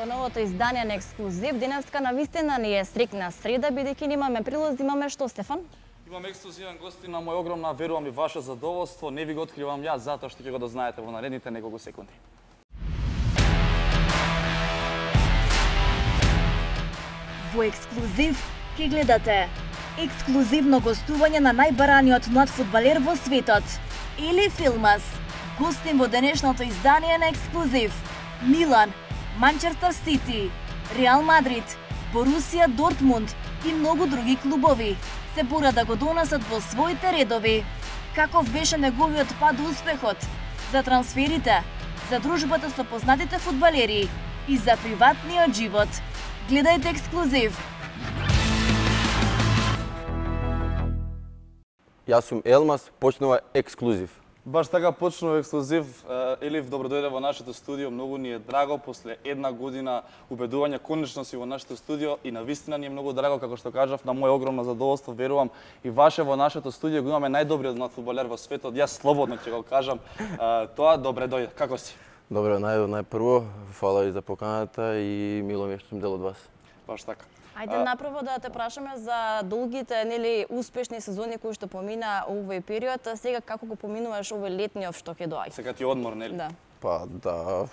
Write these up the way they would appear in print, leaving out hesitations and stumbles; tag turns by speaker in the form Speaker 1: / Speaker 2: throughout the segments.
Speaker 1: во новото издание на Ексклузив. Денеска навистина ни е срекна среда, бидејќи имаме прилози, имаме што, Стефан?
Speaker 2: Имам ексклузивен гости на мој огромна, верувам и ваше задоволство. Не ви го откривам јас, затоа што ќе го дознаете во наредните неколку секунди.
Speaker 3: Во Ексклузив ќе гледате ексклузивно гостување на најбараниот млад фудбалер во светот, Ели Филмас. Гостин во денешното издание на Ексклузив Милан, Манчестер Сити, Реал Мадрид, Борусија Дортмунд и многу други клубови се бора да го донесат во своите редови. Каков беше неговиот пат до успехот, за трансферите, за дружбата со познатите фудбалери и за приватниот живот. Гледајте Ексклузив.
Speaker 4: Јас сум Елмас, почнува Ексклузив.
Speaker 2: Баш така почнува Ексклузив. Елиф, добро дојде во нашето студио. Многу ни е драго после една година убедување конечно си во нашето студио и навистина ни е многу драго, како што кажав, на моје огромно задоволство, верувам и ваше во нашето студио го имаме најдобриот млад фудбалер во светот. Јас слободно ќе го кажам тоа. Добре дојде. Како си?
Speaker 4: Добре, најпрво, фала и за поканата и мило ми е што сум дел од вас.
Speaker 2: Баш така.
Speaker 1: Ајде направо да те прашаме за долгите, нели, успешни сезони кои што помина овој период. Сега како го поминуваш овој летниот што ќе доаѓа?
Speaker 2: Сега ти е одмор, нели?
Speaker 1: Да.
Speaker 4: Па да,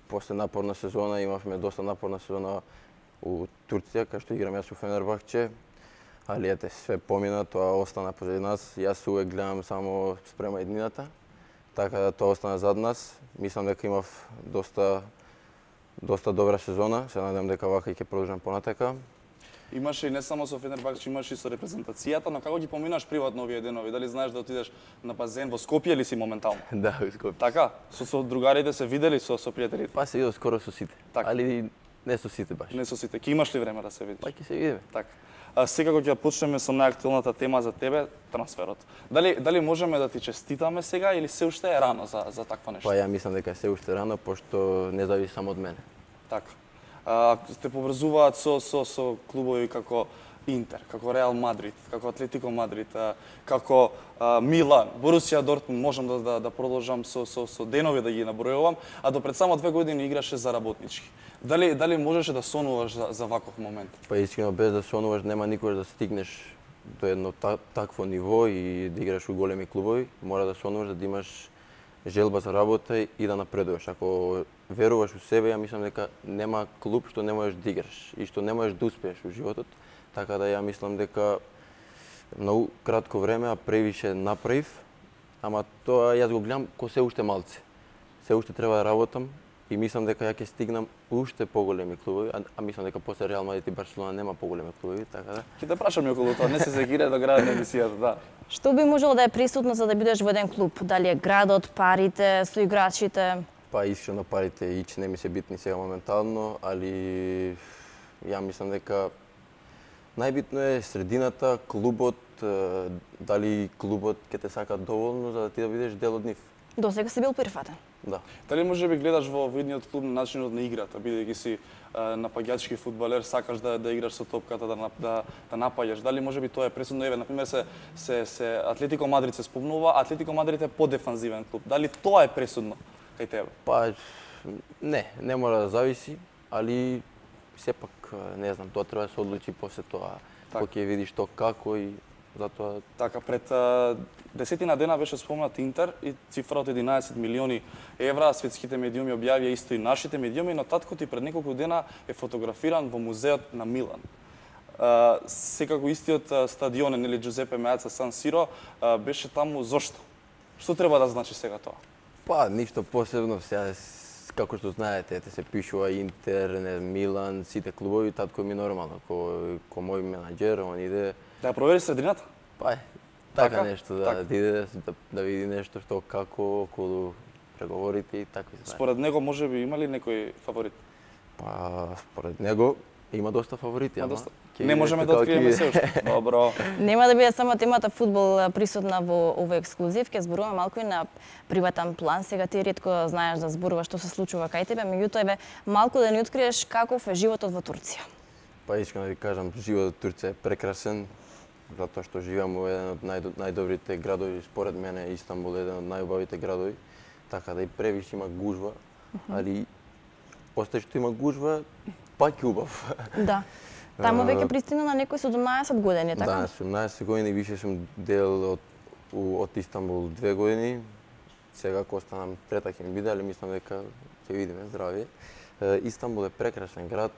Speaker 4: после напорна сезона имавме доста напорна сезона у Турција, кај што играм јас у Фенербахче. Али ете, све помина, тоа остана позади нас. Јас увек гледам само спрема еднината, така да тоа остана зад нас. Мислам дека имав доста добра сезона, се надевам дека вака ќе продолжам понатака.
Speaker 2: Имаше и не само со Фенербахче, имаше и со репрезентацијата, но како ги поминаш приватно овие денови? Дали знаеш да отидеш на базен во Скопје или си моментално?
Speaker 4: Да, во Скопје.
Speaker 2: Така? Со другарите се видели со пријателите?
Speaker 4: Па се идов скоро со сите,
Speaker 2: Така.
Speaker 4: али не со сите баш.
Speaker 2: Не со сите. Ке имаш ли време да се видиш?
Speaker 4: Па ќе се видиме.
Speaker 2: Така. Секако ќе почнеме со најактуелната тема за тебе, трансферот. Дали можеме да ти честитаме сега или се уште е рано за такво нешто?
Speaker 4: Па ја мислам дека се уште рано, пошто не зависи само од мене.
Speaker 2: Така. Те поврзуваат со клубови како Интер, како Реал Мадрид, како Атлетико Мадрид, како Милан, Борусија Дортмунд, можам да продолжам со денови да ги набројувам, а до пред само 2 години играше за работнички. Дали можеше да сонуваш за ваков момент?
Speaker 4: Па искрено, без да сонуваш нема никогаш да стигнеш до едно такво ниво и да играш у големи клубови. Мора да сонуваш, да имаш желба за работа и да напредуваш. Ако веруваш у себе, ја мислам дека нема клуб што не можеш да играш и што не можеш да успееш у животот. Така да ја мислам дека многу кратко време, а превише направив, ама тоа јас го гледам ко се уште малце. Се уште треба да работам и мислам дека ја ќе стигнам уште поголеми клубови, а мислам дека после Реал Мадрид и Барселона нема поголеми клубови, така да.
Speaker 2: Ќе те прашам и околу тоа, не се секира до градот на емисијата, да.
Speaker 1: Што би можело да е присутно за да бидеш во еден клуб? Дали е градот, парите, соиграчите?
Speaker 4: Па искрено парите ич не ми се битни сега моментално, али ја мислам дека најбитно е средината, клубот, дали клубот ќе те сака доволно за да ти да бидеш дел од нив.
Speaker 1: До сега си бил прифатен.
Speaker 4: Да.
Speaker 2: Дали може би гледаш во едниот клуб начинот на играта, бидејќи си напаѓачки фудбалер, сакаш да играш со топката, да напаѓаш. Дали може би тоа е пресудно? Еве, например, се Атлетико Мадрид се спомнува, Атлетико Мадрид е подефанзивен клуб. Дали тоа е пресудно кај тебе?
Speaker 4: Па не мора да зависи, али сепак не знам, тоа треба да се одлучи после тоа.
Speaker 2: Так.
Speaker 4: Кога ќе видиш тоа како и затоа.
Speaker 2: Така, пред 10 дена беше спомнат Интер и цифра од 11 милиони евра. Светските медиуми објавија исто и нашите медиуми, но татко ти пред неколку дена е фотографиран во музеот на Милан. Секако истиот стадион, нели, Джузепе Меаца Сан Сиро, беше таму зошто? Што треба да значи сега тоа?
Speaker 4: Па ништо посебно, сега како што знаете, се пишува Интер, Милан, сите клубови, татко ми нормално, ко мој менаџер, он иде.
Speaker 2: Да ја провери средината?
Speaker 4: Па така
Speaker 2: Така?
Speaker 4: нешто, да
Speaker 2: Така.
Speaker 4: иде да види нешто што како околу преговорите и такви ствари.
Speaker 2: Според него може би има ли некој фаворит?
Speaker 4: Па според него има доста фаворити, ама ќе
Speaker 2: Не
Speaker 4: видите
Speaker 2: можеме да
Speaker 4: како ќе
Speaker 2: откриеме
Speaker 4: биде.
Speaker 2: се уште. Добро.
Speaker 1: Нема да биде само темата фудбал присутна во овој Ексклузив, ќе зборуваме малку и на приватен план. Сега ти ретко знаеш да зборуваш што се случува кај тебе, меѓутоа еве малку да ни откриеш каков е животот во Турција.
Speaker 4: Па искам да ви кажам, животот во Турција е прекрасен, затоа што живеам во еден од најдобрите градови, според мене Истанбул е еден од најубавите градови, така да и превиш има гужва, али Постај што има гужва, пак е убав.
Speaker 1: Да. Таму веќе пристигна на некои 17 години, така?
Speaker 4: Да, на 17 години више сум дел од Истанбул 2 години. Сега ако останам трета ќе ми биде, али мислам дека ќе видиме здравје. Истанбул е прекрасен град,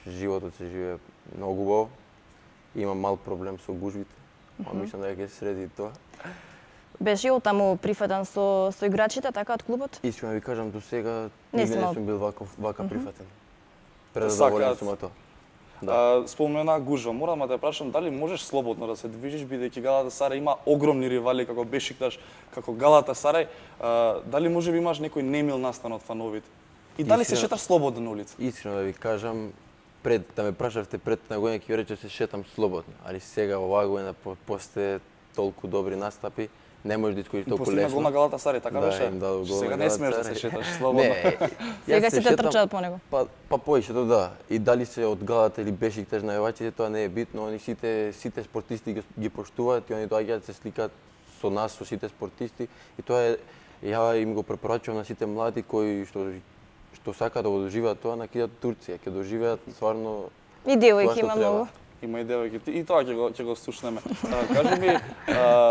Speaker 4: животот се живее многу убаво. Има мал проблем со гужвите, мислам дека ќе се среди тоа.
Speaker 1: Беше од таму прифатен со играчите, така, од клубот?
Speaker 4: Искрено ви кажам, до сега
Speaker 1: Не
Speaker 4: никаде
Speaker 1: сум
Speaker 4: не сум бил вака прифатен. Предоволен
Speaker 2: Сакаат.
Speaker 4: сум од тоа.
Speaker 2: Спомена гужва, морам да те прашам дали можеш слободно да се движиш бидејќи Галатасарај има огромни ривали како Бешикташ, како Галатасарај, дали можеби имаш некој немил настан од фановите? И дали се шеташ слободно на улица?
Speaker 4: Искрено да ви кажам, да ме прашавте пред на година ќе ви рече се шетам слободно, али сега оваа година после толку добри настапи не може да искориш толку
Speaker 2: Постигна гол на
Speaker 4: лесно.
Speaker 2: Галатасарај, така
Speaker 4: Да,
Speaker 2: беше?
Speaker 4: им дадов гол
Speaker 2: Сега
Speaker 4: на
Speaker 2: не смееш да се
Speaker 4: Галатасарај.
Speaker 2: шеташ слободно.
Speaker 4: Не,
Speaker 1: Сега
Speaker 4: јас се
Speaker 1: сите
Speaker 4: шетам,
Speaker 1: трчаат по него.
Speaker 4: Па поише тоа да. И дали се од Галата или Бешикташ најавачите, тоа не е битно. Они сите спортисти ги поштуваат и они доаѓаат се сликаат со нас, со сите спортисти. И тоа е, ја им го препорачувам на сите млади кои што сакаат да го доживеат тоа, на кидат Турција, ќе доживеат стварно
Speaker 1: И
Speaker 4: тоа
Speaker 1: девојки
Speaker 4: што
Speaker 1: има
Speaker 4: треба.
Speaker 1: многу.
Speaker 2: Има и девојки. И тоа ќе го слушнеме. Кажи ми,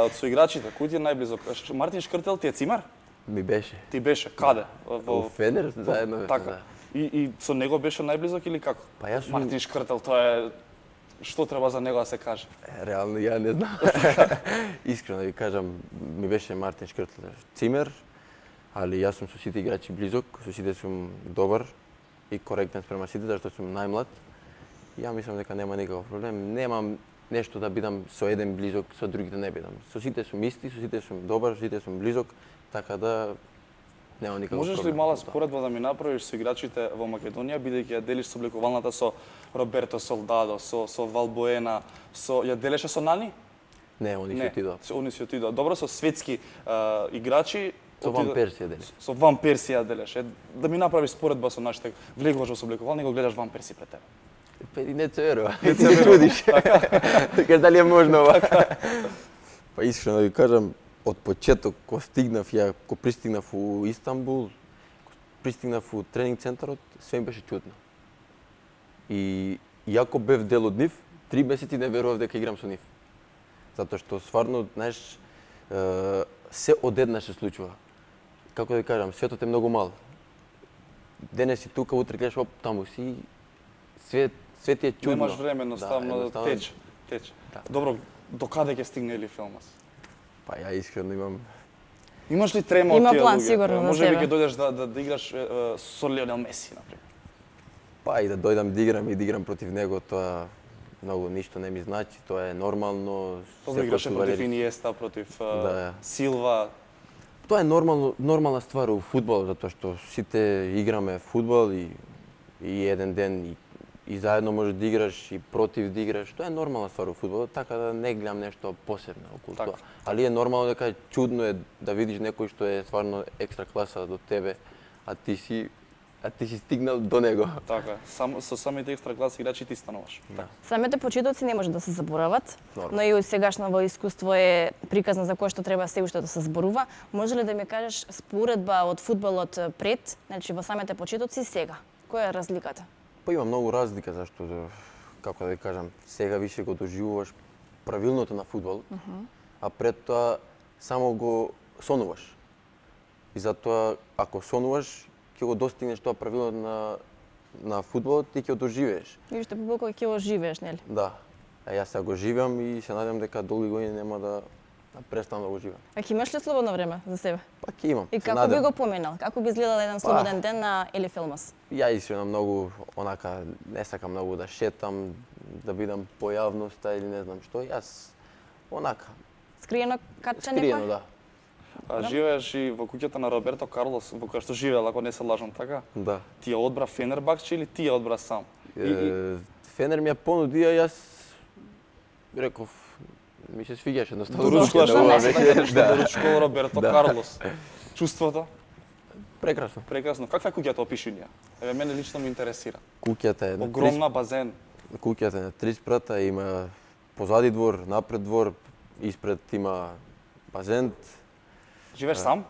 Speaker 2: од соиграчите, кој ти е најблизок? Мартин Шкртел ти е цимар?
Speaker 4: Ми беше.
Speaker 2: Ти беше каде?
Speaker 4: Во Фенер заедно беше.
Speaker 2: Така.
Speaker 4: Да.
Speaker 2: И со него беше најблизок или како?
Speaker 4: Па јас сум
Speaker 2: Мартин Шкртел, тоа е што треба за него да се каже?
Speaker 4: реално ја не знам. Искрено да ви кажам, ми беше Мартин Шкртел цимер, али јас сум со сите играчи близок, со сите сум добар и коректен спрема сите, зашто сум најмлад. Ја мислам дека нема никаков проблем. Немам нешто да бидам со еден близок, со другите не бидам. Со сите сум исти, со сите сум добар, со сите сум близок, така да нема никаков
Speaker 2: Можеш
Speaker 4: проблем.
Speaker 2: ли мала споредба да ми направиш со играчите во Македонија, бидејќи ја делиш со облекувалната со Роберто Солдадо, со Валбоена, ја делеше со Нани?
Speaker 4: Не, они се отидоа.
Speaker 2: Они се отидоа. Добро, со светски играчи.
Speaker 4: Со Ван Персија делиш.
Speaker 2: Со Ван Перси ја делеше. Да ми направиш споредба со нашите. Влегуваш во облекувални и го гледаш Ван Перси пред тебе.
Speaker 4: Педи не се верува. Не се чудиш. Така дали е можно ова? Па искрено да ви кажам, од почеток кога стигнав ја, кога пристигнав у Истанбул, пристигнав у тренинг центарот, све ми беше чудно. И јако бев дел од нив, 3 месеци не верував дека играм со нив. Затоа што стварно, знаеш, се одеднаш се случува. Како да ви кажам, светот е многу мал. Денес си тука, утре гледаш оп, таму си, свет ти е чудно.
Speaker 2: Немаш време, едноставно да тече.
Speaker 4: Да.
Speaker 2: Добро, до каде ќе стигне или филмас?
Speaker 4: Па ја искрено имам.
Speaker 2: Имаш ли трема од
Speaker 1: Има
Speaker 2: тие
Speaker 1: план,
Speaker 2: луѓе?
Speaker 1: сигурно, за
Speaker 2: Може би
Speaker 1: себе.
Speaker 2: ќе дојдеш да играш со Лионел Меси, например.
Speaker 4: Па и да дојдам да играм против него, тоа многу ништо не ми значи, тоа е нормално.
Speaker 2: Добро,
Speaker 4: секој
Speaker 2: играше против
Speaker 4: фудбалерист.
Speaker 2: Иниеста, против
Speaker 4: Да.
Speaker 2: Силва.
Speaker 4: Тоа е нормална ствар у фудбал, затоа што сите играме фудбал и еден ден и заедно можеш да играш и против да играш. Тоа е нормална ствар у фудбалот, така да не гледам нешто посебно околу
Speaker 2: Така.
Speaker 4: тоа. Али е нормално дека чудно е да видиш некој што е стварно екстра класа до тебе, а ти си стигнал до него.
Speaker 2: Така, со самите екстра клас играчи ти стануваш.
Speaker 4: Да.
Speaker 1: Самите почетоци не може да се заборават,
Speaker 4: Нормално.
Speaker 1: но и од сегашново искуство е приказна за кое што треба се уште да се зборува. Може ли да ми кажеш споредба од фудбалот пред, значи во самите почетоци и сега? Која е разликата?
Speaker 4: Па има многу разлика, зашто, како да ви кажам, сега више го доживуваш правилното на фудбалот, а пред тоа само го сонуваш. И затоа, ако сонуваш, ќе го достигнеш тоа правилното на фудбалот и ќе го доживееш.
Speaker 1: И уште побоко ќе го живееш, нели?
Speaker 4: Да. А јас сега го живеам и се надевам дека долги години нема да престанам да го живеам.
Speaker 1: А ќе имаш ли слободно време за себе?
Speaker 4: Па ќе имам.
Speaker 1: И
Speaker 4: се
Speaker 1: како би
Speaker 4: надевам.
Speaker 1: го поминал? Како би изгледал еден слободен ден на Ели Филмас?
Speaker 4: Ја искрено многу, онака, не сакам многу да шетам, да бидам по јавноста или не знам што. Јас, онака,
Speaker 1: Скриено катче
Speaker 4: скриено,
Speaker 1: некој?
Speaker 4: да.
Speaker 2: Живееш и во куќата на Роберто Карлос, во која што живеел, ако не се лажам, така?
Speaker 4: Да.
Speaker 2: Ти ја одбра Фенербахче или ти ја одбра сам?
Speaker 4: Фенер ми ја понуди, а јас реков, ми се свиѓаше едноставно.
Speaker 2: Доручкуваш
Speaker 1: Зошто не?
Speaker 2: да доручкувал Роберто Карлос. Чувството?
Speaker 4: Прекрасно.
Speaker 2: Прекрасно. Каква е куќата, опиши ни ја? Еве мене лично ме интересира.
Speaker 4: Куќата е на
Speaker 2: Огромна базен.
Speaker 4: Куќата е на 3 спрата, има позади двор, напред двор, испред има базен.
Speaker 2: Живееш сам?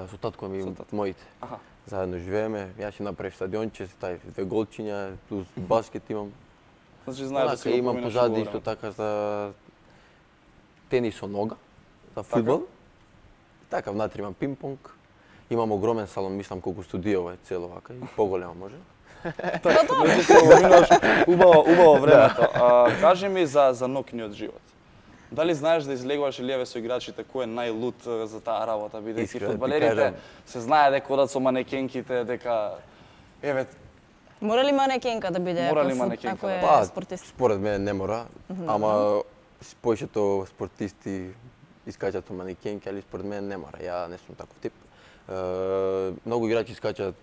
Speaker 4: Со татко ми,
Speaker 2: Со татко.
Speaker 4: моите.
Speaker 2: Аха.
Speaker 4: Заедно живееме, јас си направив стадионче, ставив 2 голчиња, плюс баскет имам.
Speaker 2: Значи знаеш да си го
Speaker 4: имам
Speaker 2: поминеш
Speaker 4: позади
Speaker 2: во
Speaker 4: исто
Speaker 2: време.
Speaker 4: така за тенис со нога, за фудбал. Така внатре имам пинг-понг. Имам огромен салон, мислам колку студио е цело вака и поголемо може.
Speaker 2: Значи се поминаш убаво времето. Кажи ми за ноќниот живот. Дали знаеш да излегуваш или со играчите кој е најлут за таа работа, бидејќи
Speaker 4: Искрено ти
Speaker 2: фудбалерите
Speaker 4: кажам.
Speaker 2: се знае дека одат со манекенките, дека еве
Speaker 1: Мора ли манекенка да биде
Speaker 2: Мора ли
Speaker 1: ако
Speaker 2: манекенка
Speaker 1: е
Speaker 4: Па,
Speaker 1: спортист?
Speaker 4: според мене не мора, ама повеќето спортисти искачат со манекенки, али според мене не мора. Ја не сум таков тип. Многу играчи искачат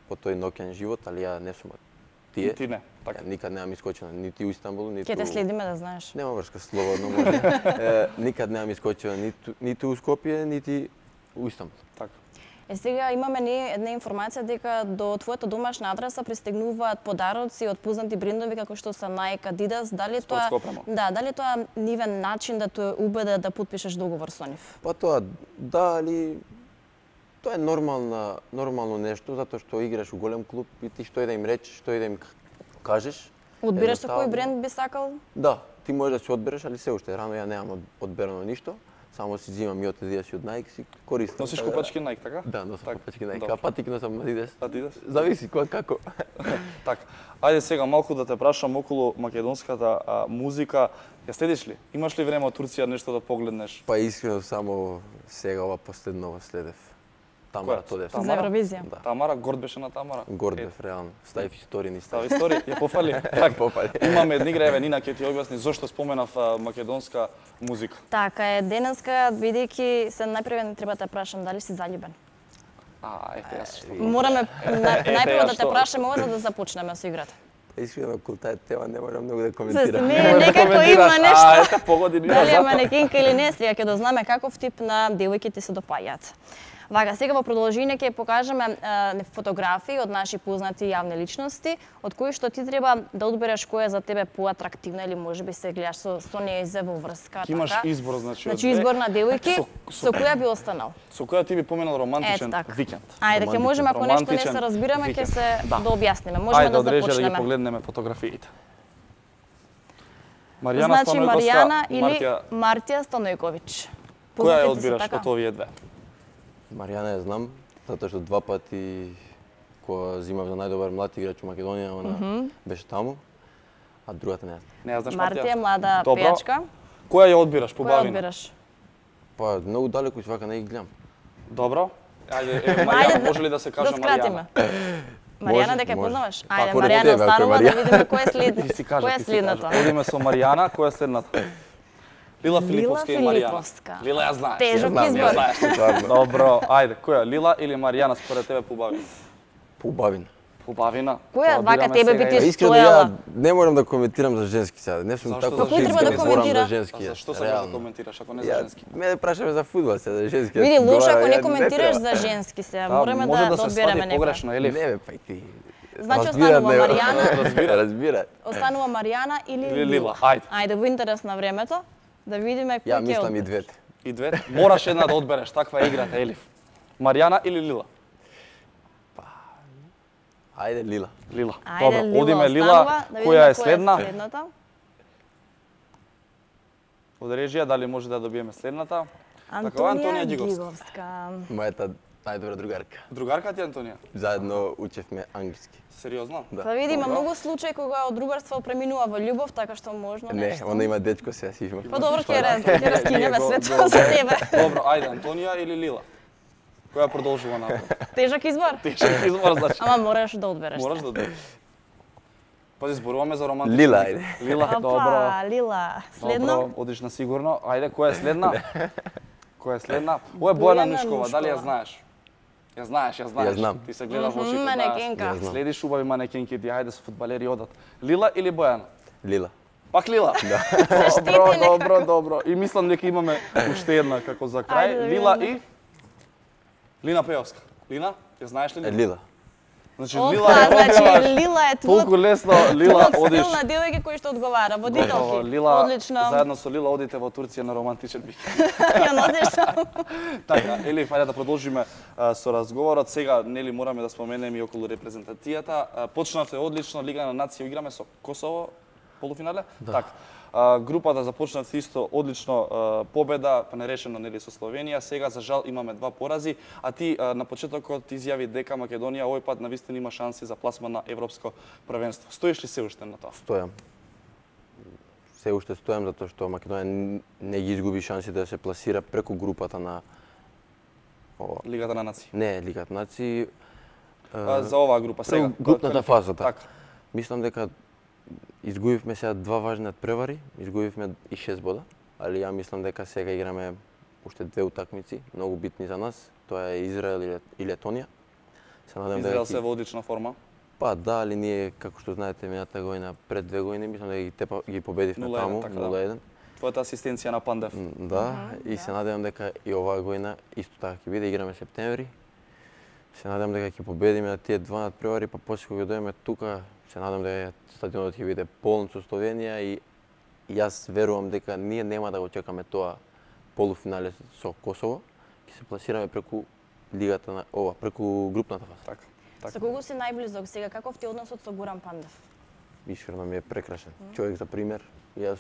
Speaker 4: по тој ноќен живот, али ја не сум од тие.
Speaker 2: ти не, така.
Speaker 4: Ја никад немам искочено нити у Истанбул, ниту...
Speaker 1: Ќе те следиме да знаеш.
Speaker 4: Нема врска, слободно може. Никад немам искочено ниту у Скопје, нити у Истанбул.
Speaker 2: Така.
Speaker 1: Сега имаме ние една информација дека до твојата домашна адреса пристигнуваат подароци од познати брендови како што се Nike, Adidas. Дали тоа
Speaker 2: Спортска опрема.
Speaker 1: дали тоа нивен начин да те убеде да потпишеш договор со нив?
Speaker 4: Па тоа, да, али тоа е нормално нешто, затоа што играш у голем клуб и ти што и да им речеш, што и да им кажеш.
Speaker 1: Одбираш со кој
Speaker 4: едноставно-
Speaker 1: бренд би сакал?
Speaker 4: Да, ти можеш да се одбереш, али се уште рано ја немам одберано ништо. Само си взимам и од Adidas и од Nike си користам.
Speaker 2: Носиш
Speaker 4: така да-
Speaker 2: копачки Nike, така?
Speaker 4: Да, носам
Speaker 2: Така,
Speaker 4: копачки Nike.
Speaker 2: добро.
Speaker 4: А патик носам Adidas.
Speaker 2: Adidas?
Speaker 4: Зависи кој како.
Speaker 2: Така. Ајде сега малку да те прашам околу македонската музика. Ја следиш ли? Имаш ли време од Турција нешто да погледнеш?
Speaker 4: Па искрено само сега ова последново следев. Тамара
Speaker 2: Која?
Speaker 4: Тодев.
Speaker 2: Тамара?
Speaker 1: За Евровизија.
Speaker 4: Да.
Speaker 2: Тамара, горд беше на Тамара.
Speaker 4: Горд бев реално. Ставив истории ни
Speaker 2: Става
Speaker 4: ставив.
Speaker 2: историја, ја пофали. Така,
Speaker 4: Пофали.
Speaker 2: Имаме една игра, еве Нина ќе ти објасни зошто споменав македонска музика.
Speaker 1: Така е, денеска бидејќи се најпрвен треба да те прашам дали си заљубен.
Speaker 2: Ете јас што.
Speaker 1: Мораме најпрво
Speaker 2: ја
Speaker 1: да те
Speaker 2: што.
Speaker 1: прашаме ова за да започнеме со играта.
Speaker 4: Искрено околу таа тема не можам многу да
Speaker 1: Не,
Speaker 4: коментирам.
Speaker 1: некако има
Speaker 2: коментираш,
Speaker 1: нешто.
Speaker 2: ете погоди Нина
Speaker 1: Дали е
Speaker 2: затоа.
Speaker 1: манекенка или не, сега ќе дознаеме каков тип на девојките се допаѓаат. Вака, сега во продолжение ќе покажеме фотографии од наши познати јавни личности, од кои што ти треба да одбереш која е за тебе поатрактивна или можеби се гледаш со нејзе во врска.
Speaker 2: Ќе имаш
Speaker 1: така.
Speaker 2: избор, значи, од
Speaker 1: Значи
Speaker 2: две.
Speaker 1: избор на девојки,
Speaker 2: Со
Speaker 1: со која би останал?
Speaker 2: Со која ти би поминал романтичен
Speaker 1: така.
Speaker 2: викенд?
Speaker 1: Ајде, ќе можеме, ако нешто не се
Speaker 2: Романтичен
Speaker 1: разбираме, ќе
Speaker 2: викенд.
Speaker 1: се
Speaker 2: Да.
Speaker 1: да објасниме. Можеме
Speaker 2: Ајде,
Speaker 1: да
Speaker 2: одрежи да ги
Speaker 1: започнеме.
Speaker 2: погледнеме фотографиите. Маријана
Speaker 1: Значи
Speaker 2: Станојковска,
Speaker 1: Маријана или
Speaker 2: Мартија,
Speaker 1: Мартија Станојковиќ.
Speaker 2: која ја
Speaker 1: Познати ти се,
Speaker 2: одбираш
Speaker 1: така?
Speaker 2: од овие две?
Speaker 4: Маријана ја знам, затоа што 2 пати кога зимав за најдобар млад играч у Македонија, она беше таму, а другата не ја знам.
Speaker 2: Не ја знаеш
Speaker 1: Мартија
Speaker 2: Мартија?
Speaker 1: е млада
Speaker 2: Добро.
Speaker 1: пејачка.
Speaker 2: Која ја одбираш по
Speaker 1: Која
Speaker 2: бавина?
Speaker 1: одбираш?
Speaker 4: Па многу далеку си вака не ги гледам.
Speaker 2: Добро. Ајде, Маријана,
Speaker 1: Ајде,
Speaker 2: може ли да се каже
Speaker 1: да
Speaker 2: Маријана?
Speaker 1: скратиме. Маријана
Speaker 4: Може,
Speaker 1: дека ја
Speaker 4: може.
Speaker 1: познаваш?
Speaker 4: Па,
Speaker 1: Ајде,
Speaker 4: поред
Speaker 1: Маријана
Speaker 4: тебе, ако е
Speaker 1: останува да
Speaker 4: Маријана.
Speaker 1: видиме кој е след.
Speaker 2: Ти си кажа,
Speaker 1: Која е
Speaker 2: ти си кажа.
Speaker 1: следната?
Speaker 2: Одиме со Маријана, која е следната? Лила Филиповска и Маријана.
Speaker 1: Филиповска.
Speaker 2: Лила ја знаеш.
Speaker 1: Тежок
Speaker 2: ја
Speaker 1: избор.
Speaker 2: знаеш.
Speaker 4: Стварно.
Speaker 2: Добро, ајде, која? Лила или Маријана според тебе побавина?
Speaker 4: Поубавина.
Speaker 2: Побавина.
Speaker 1: Која
Speaker 2: Тоа
Speaker 1: вака
Speaker 2: бираме
Speaker 1: тебе
Speaker 2: сега
Speaker 1: би ти
Speaker 2: и-
Speaker 4: Па искрено
Speaker 1: стоела?
Speaker 4: ја не морам да коментирам за женски сега. Не сум
Speaker 2: Зашто
Speaker 4: тако
Speaker 2: за женски?
Speaker 1: Кој треба да
Speaker 4: не зборам
Speaker 1: коментира?
Speaker 4: за женски.
Speaker 2: А зашто
Speaker 4: јас,
Speaker 2: сакаш да
Speaker 4: реално.
Speaker 2: коментираш ако не за
Speaker 4: Ја,
Speaker 2: женски?
Speaker 4: Мене прашаме за фудбал сега, за женски.
Speaker 1: Види, лошо
Speaker 4: Говорам,
Speaker 1: ако
Speaker 4: ја
Speaker 1: не
Speaker 4: не
Speaker 1: коментираш
Speaker 4: треба.
Speaker 1: за женски се.
Speaker 2: Да,
Speaker 1: Мораме
Speaker 2: може
Speaker 1: да
Speaker 2: се
Speaker 1: одбереме
Speaker 2: свади
Speaker 1: некој.
Speaker 2: погрешно, Елиф.
Speaker 4: Не бе, па и ти.
Speaker 1: Значи
Speaker 4: Разбират,
Speaker 1: останува
Speaker 4: не,
Speaker 1: Маријана,
Speaker 4: Разбира.
Speaker 1: останува Маријана или
Speaker 2: Или
Speaker 1: Лила.
Speaker 2: Лила, ајде.
Speaker 1: Ајде, во интерес на времето, да видиме кој
Speaker 4: Ја
Speaker 1: ќе
Speaker 4: мислам и
Speaker 1: одбере.
Speaker 4: двете.
Speaker 2: И две. Мораш една да одбереш, таква е играта, Елиф. Маријана или Лила?
Speaker 4: Ајде Лила.
Speaker 2: Лила.
Speaker 1: Ајде,
Speaker 2: Добро,
Speaker 1: Лила
Speaker 2: одиме
Speaker 1: останува,
Speaker 2: Лила,
Speaker 1: да видиме
Speaker 2: која е следна?
Speaker 1: следната.
Speaker 2: Од режија, дали може да добиеме следната? Така,
Speaker 1: Антонија
Speaker 2: Гиговска.
Speaker 1: Гиговска.
Speaker 4: Мојата најдобра другарка.
Speaker 2: Другарка ти Антонија?
Speaker 4: Заедно учевме англиски.
Speaker 2: Сериозно?
Speaker 4: Да.
Speaker 1: Па види, има
Speaker 2: Добро.
Speaker 1: многу случаи кога од другарство преминува во љубов, така што можно
Speaker 4: Не,
Speaker 1: нешто.
Speaker 4: она има дечко сега си има.
Speaker 1: Па добро, ќе раскинеме
Speaker 2: Го-
Speaker 1: свето
Speaker 2: го-
Speaker 1: за тебе.
Speaker 2: Добро, ајде, Антонија или Лила? Која продолжува напред?
Speaker 1: Тежок избор.
Speaker 2: Тешок избор, значи.
Speaker 1: Ама мораш да одбереш.
Speaker 2: Мораш да одбереш. Пази, зборуваме за романтични.
Speaker 4: Лила,
Speaker 2: игри.
Speaker 4: ајде.
Speaker 2: Лила, добро.
Speaker 1: Опа, Лила. Следно?
Speaker 2: Добро, одиш на сигурно. Ајде, која е следна? Која е следна? Ова е Бојана
Speaker 1: Бојана
Speaker 2: Нушкова, дали ја
Speaker 1: Нушкова.
Speaker 2: знаеш? Ја знаеш, ја знаеш.
Speaker 4: Ја знам.
Speaker 2: Ти се гледаш во очите,
Speaker 1: манекенка.
Speaker 2: да.
Speaker 4: Ја знам.
Speaker 2: Следиш убави манекенки, ти ајде со фудбалери одат. Лила или Бојана?
Speaker 4: Лила.
Speaker 2: Пак Лила? Да. Добро, добро, добро. И мислам дека имаме уште една како за крај.
Speaker 1: Ајде да
Speaker 2: Лила
Speaker 1: видиме.
Speaker 2: и Лина Пеовска. Лина, ја знаеш ли?
Speaker 4: Лила.
Speaker 2: Значи
Speaker 1: Опа,
Speaker 2: Лила е
Speaker 1: значи
Speaker 2: одеваш.
Speaker 1: Лила е
Speaker 2: Толку лесно Лила одиш.
Speaker 1: стил на девојка кој што одговара,
Speaker 2: Браво,
Speaker 1: водителки.
Speaker 2: Лила,
Speaker 1: Одлично.
Speaker 2: заедно со Лила одите во Турција на романтичен викенд.
Speaker 1: Ја носиш таму.
Speaker 2: Така, Елиф, ајде да продолжиме со разговорот. Сега, нели, мораме да споменеме и околу репрезентацијата. Почнавте одлично, Лига на нации играме со Косово, полуфинале.
Speaker 4: Да.
Speaker 2: Така. Групата започнавте исто одлично победа, па нерешено нели со Словенија. Сега за жал имаме 2 порази, а ти на почетокот изјави дека Македонија овој пат навистина има шанси за пласман на европско првенство. Стоиш ли се уште на тоа?
Speaker 4: Стојам. Се уште стојам затоа што Македонија не ги изгуби шансите да се пласира преку групата на
Speaker 2: Лигата на нации.
Speaker 4: Не, Лигата на нации.
Speaker 2: За оваа група сега.
Speaker 4: Групната фаза,
Speaker 2: така.
Speaker 4: Мислам дека изгубивме сега 2 важни надпревари, изгубивме и 6 бода, али ја мислам дека сега играме уште 2 утакмици, многу битни за нас. Тоа е Израел и Летонија. Се надевам
Speaker 2: Израел се во одлична форма.
Speaker 4: Па да, али ние, како што знаете, мината година, пред 2 години, мислам дека ги победивме
Speaker 2: 0-1,
Speaker 4: таму,
Speaker 2: така,
Speaker 4: 0-1.
Speaker 2: Твојата асистенција на Пандев.
Speaker 4: Да, и се надевам дека и оваа година исто така ќе биде, играме септември. Се надевам дека ќе победиме на тие 2 надпревари, па после кога дојдеме тука, се надевам дека стадионот ќе биде полн со Словенија и јас верувам дека ние нема да го чекаме тоа полуфинале со Косово, ќе се пласираме преку лигата на преку групната фаза.
Speaker 2: Така.
Speaker 1: Со кого си најблизок сега? Каков ти е односот со Горан Пандев?
Speaker 4: Искрено ми е прекрасен. Човек за пример. Јас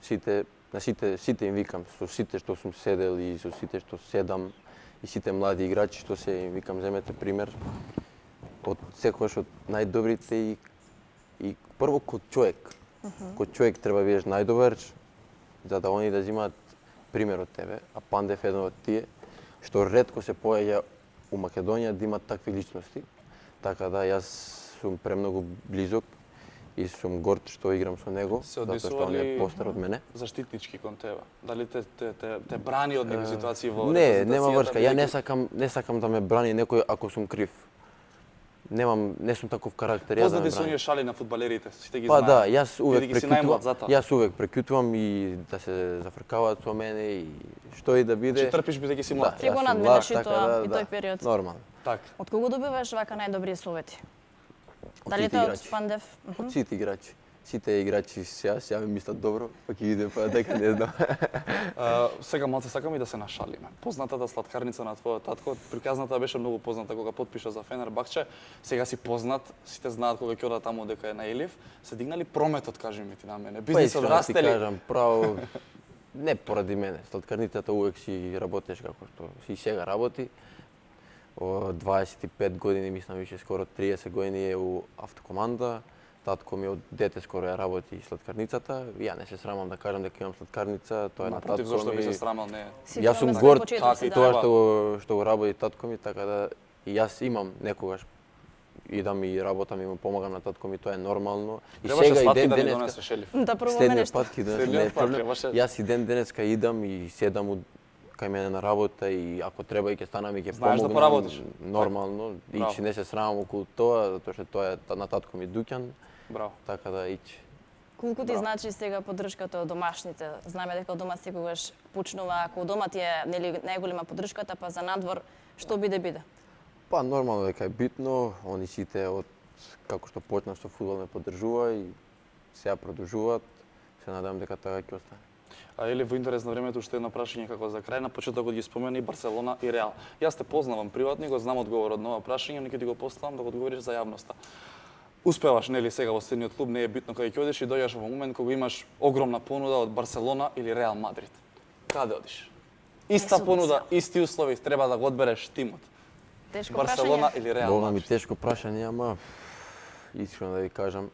Speaker 4: сите им викам, со сите што сум седел и со сите што седам и сите млади играчи што се им викам, земете пример од секогаш од најдобрите и прво кod човек. Кod човек треба да бидеш најдобар за да они да земаат пример од тебе, а Пандев е еден од тие што ретко се појаѓа у Македонија да имат такви личности. Така да јас сум премногу близок и сум горд што играм со него, затоа што он е постар од мене.
Speaker 2: Заштитнички кон тебе? Дали те брани од некои ситуации во
Speaker 4: репрезентацијата? Не, нема врска. Ја не сакам да ме брани некој ако сум крив. Не сум таков карактер.
Speaker 2: Познати се оние шали на фудбалерите, сите ги
Speaker 4: знаат. Па да, јас увек прекјутувам и да се зафркаваат со мене и што и да биде.
Speaker 2: Че трпиш бидејќи си млад.
Speaker 1: Ти го надминеш и тоа и тој период.
Speaker 4: Нормално.
Speaker 2: Так.
Speaker 1: Од кого добиваш вака најдобри совети? Дали тоа од Пандев?
Speaker 4: Од сите играчи. Сите играчи сега ми мислат добро, па ќе видиме па дека не знам.
Speaker 2: Сега малце сакам и да се нашалиме. Познатата слаткарница на твојот татко, приказната беше многу позната кога потпиша за Фенербахче. Сега си познат, сите знаат кога ќе одат таму дека е на Елиф. Се дигнали прометот, кажи ми ти на мене. Бизнисот расте ли?
Speaker 4: Па кажам, право, не поради мене. Слаткарницата увек си работеш како што си сега работи. 25 години, мислам више скоро 30 години е у автокоманда. Татко ми од дете скоро ја работи слаткарницата. Ја не се срамам да кажам дека имам слаткарница, тоа е на татко ми.
Speaker 2: Зошто би се срамал, не?
Speaker 4: Јас сум горд тоа што го работи татко ми, така да и јас имам некогаш идам и работам и му помагам на татко ми, тоа е нормално.
Speaker 2: И сега и ден денеска
Speaker 1: да пробаме нешто.
Speaker 4: Јас и ден денеска идам и седам кај мене на работа и ако треба и ќе станам и ќе помогнам.
Speaker 2: Да поработиш.
Speaker 4: Нормално, и че не се срамам околу тоа, затоа што тоа е на татко ми дуќан.
Speaker 2: Браво.
Speaker 4: Така да иче.
Speaker 1: Колку ти значи сега поддршката од домашните? Знаме дека дома секогаш почнува, ако дома ти е нели најголема поддршката, па за надвор што биде?
Speaker 4: Па нормално дека е битно, они сите од како што почнав со фудбал ме поддржува и сега продолжуваат. Се надевам дека така ќе остане.
Speaker 2: А или во интерес на времето уште едно прашање како за крај, на почетокот ги спомена и Барселона и Реал. Јас те познавам приватно, го знам одговорот на ова прашање, но ќе ти го поставам да го одговориш за јавноста. Успеваш нели сега во следниот клуб, не е битно кај ќе одиш и дојдеш во момент кога имаш огромна понуда од Барселона или Реал Мадрид. Каде одиш? Иста понуда, исти услови, треба да го одбереш тимот.
Speaker 1: Тешко
Speaker 2: Барселона
Speaker 1: прашање.
Speaker 2: или Реал
Speaker 4: Бога ми
Speaker 2: Мадрид?
Speaker 4: тешко прашање, ама искрено да ви кажам,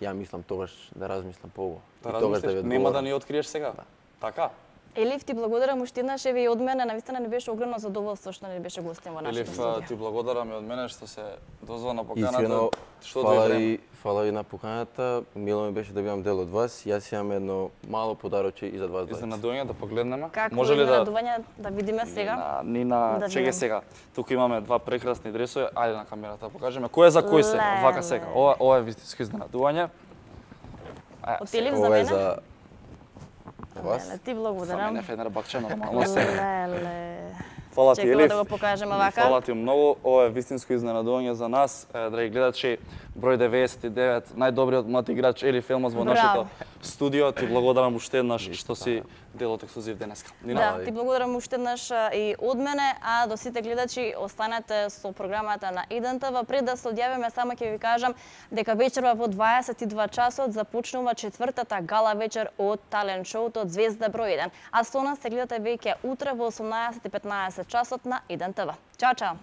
Speaker 4: ја мислам тогаш да размислам поубаво.
Speaker 2: Да размислиш, нема да ни откриеш сега. Да. Така?
Speaker 1: Елиф, ти благодарам уште еднаш, еве и од мене, навистина не беше огромно задоволство што не беше гостин во нашата
Speaker 2: Елиф,
Speaker 1: студија.
Speaker 2: ти благодарам и од мене што се дозва на поканата.
Speaker 4: Искрено,
Speaker 2: Што дојде
Speaker 4: фала ви на поканата. Мило ми беше да бидам дел од вас. Јас имам едно мало подароче и за вас двајца.
Speaker 2: Изненадување да погледнеме.
Speaker 1: Како
Speaker 2: Може ли да
Speaker 1: изненадување да видиме сега?
Speaker 2: Нина,
Speaker 1: Да
Speaker 2: чеке
Speaker 1: видам.
Speaker 2: сега. Тука имаме два прекрасни дресови. Ајде на камерата да покажеме. Кој е за кој се?
Speaker 1: Леле.
Speaker 2: Вака сега. Ова е вистинско изненадување.
Speaker 1: Од Елиф за
Speaker 4: Ова е
Speaker 1: мене?
Speaker 4: за вас.
Speaker 1: Леле, ти
Speaker 2: За
Speaker 1: благодарам.
Speaker 2: мене Фенербахче нормално сега.
Speaker 1: Леле.
Speaker 2: Фала ти,
Speaker 1: Чекаме
Speaker 2: Елиф.
Speaker 1: да го покажеме вака.
Speaker 2: Фала ти многу. Ова е вистинско изненадување за нас. Драги гледачи, број 99, најдобриот млад играч Елиф Елмаз во нашето студио. Ти благодарам уште еднаш што си дел од ексклузив денеска.
Speaker 1: Да, ти благодарам уште еднаш и од мене, а до сите гледачи останете со програмата на ЕДНТВ. Пред да се одјавиме, само ќе ви кажам дека вечерва во 22 часот започнува четвртата гала вечер од талент шоуто од Звезда број 1. А со нас се гледате веќе утре во 18:15 часот на ЕДНТВ. Чао, чао!